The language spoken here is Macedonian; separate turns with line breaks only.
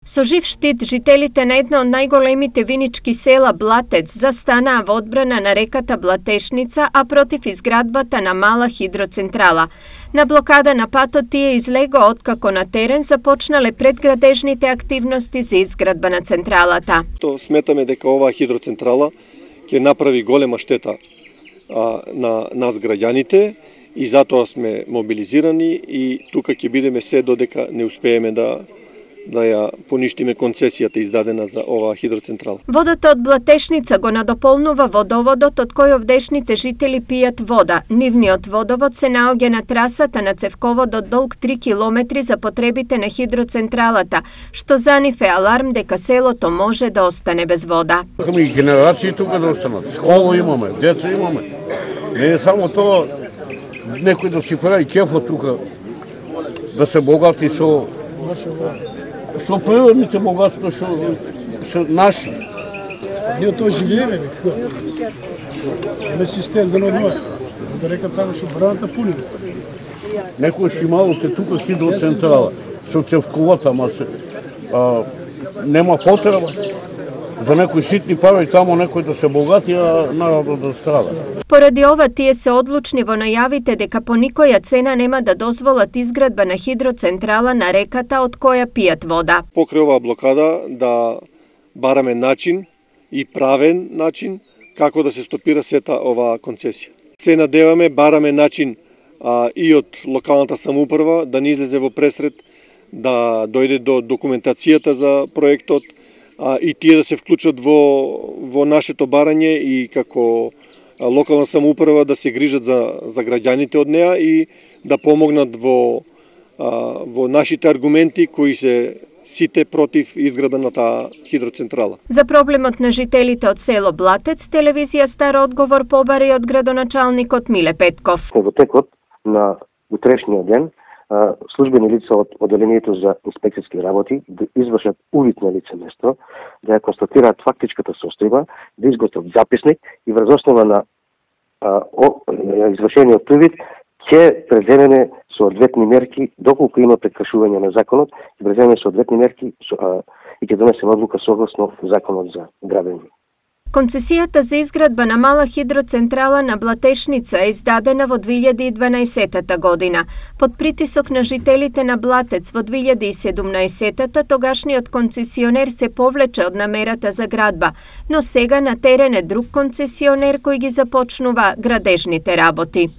Со жив штит, жителите на едно од најголемите винички села Блатец застанаа во одбрана на реката Блатешница, а против изградбата на мала хидроцентрала. На блокада на патот тие излего откако на терен започнале предградежните активности за изградба на централата.
Сметаме дека оваа хидроцентрала ќе направи голема штета на нас граѓаните и затоа сме мобилизирани и тука ќе бидеме се додека не успееме да ја поништиме концесијата издадена за оваа хидроцентрала.
Водата од Блатешница го надополнува водоводот од кој овдешните жители пијат вода. Нивниот водовод се наоѓа на трасата на цевководот долг 3 километри за потребите на хидроцентралата, што за нив е аларм дека селото може да остане без вода.
И генерации тука да останат. Школа имаме, деца имаме. Не е само тоа некој да си прави кефот тука, да се богати со природните богатства што наши.
Ние тоа живееме некако. Не систем за нормално. Да река таму што браната пуни.
Некој имало тука хидроцентрала со цевковата, ама нема потреба. За некои ситни пари таму некој да се богати, а народот да страда.
Поради ова тие се одлучни во најавите дека по никоја цена нема да дозволат изградба на хидроцентрала на реката од која пијат вода.
Покрај оваа блокада да бараме начин и правен начин како да се стопира сета оваа концесија. Се надеваме, бараме начин и од локалната самоуправа да не излезе во пресред, да дојде до документацијата за проектот, и тие да се вклучат во нашето барање и како локална самоуправа да се грижат за граѓаните од неа и да помогнат во нашите аргументи кои се сите против изградба на таа хидроцентрала.
За проблемот на жителите од село Блатец, телевизија Стар одговор побари од градоначалникот Миле Петков.
Во текот на утрешниот ден службени лица од одделението за инспекцијски работи да извршат увид на лице место, да ја констатираат фактичката состојба, да изготват записник и врз основа на извршениот увид ќе преземеме соодветни мерки доколку има прекршување на законот, ќе преземеме соодветни мерки и ќе донесеме одлука согласно законот за градење.
Концесијата за изградба на мала хидроцентрала на Блатешница е издадена во 2012 година. Под притисок на жителите на Блатец во 2017 тогашниот концесионер се повлече од намерата за градба, но сега на терен е друг концесионер кој ги започнува градежните работи.